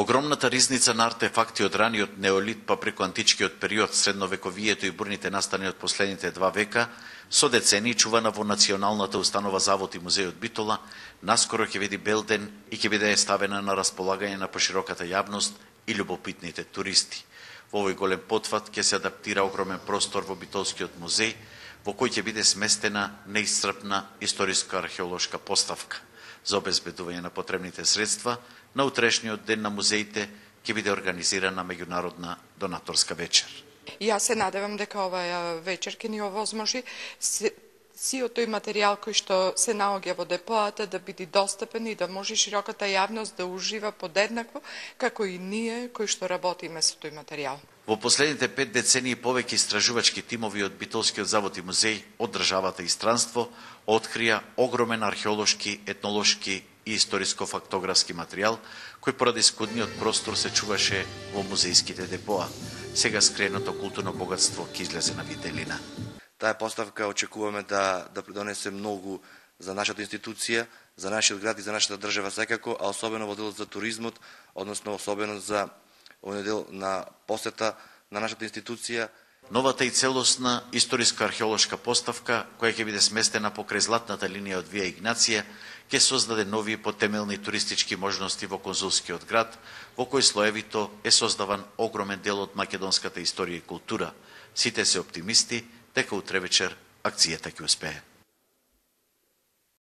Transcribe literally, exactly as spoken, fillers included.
Огромната ризница на артефакти од раниот неолит па преку античкиот период, средновековието и бурните настани од последните два века, со децении чувана во Националната установа Завод и музејот Битола, наскоро ќе види бел ден и ќе биде ставена на располагање на пошироката јавност и љубопитните туристи. Во овој голем потфат ќе се адаптира огромен простор во Битолскиот музеј, во кој ќе биде сместена неисцрпна историска-археолошка поставка. За обезбедување на потребните средства, на утрешниот ден на музеите ќе биде организирана меѓународна донаторска вечер. Јас се надевам дека оваа вечер ќе ни овозможи сиот тој материјал кој што се наоѓа во депоата да биде достапен и да може широката јавност да ужива подеднакво како и ние кои што работиме со тој материјал. Во последните пет децении повеќе истражувачки тимови од Битолскиот завод и музеј од државата и странство открија огромен археолошки, етнолошки и историско-фактографски материјал, кој поради скудниот простор се чуваше во музејските депоа. Сега скреното културно богатство ќе излезе на виделина. Таа поставка очекуваме да да придонесе многу за нашата институција, за нашиот град и за нашата држава секако, а особено во делот за туризмот, односно особено за овој дел на посета на нашата институција. Новата и целосна историска-археолошка поставка, која ќе биде сместена покрај златната линија од Вија Игнација, ќе создаде нови потемелни туристички можности во конзулскиот град, во кој слоевито е создаван огромен дел од македонската историја и култура. Сите се оптимисти дека утре вечер акцијата ќе успее.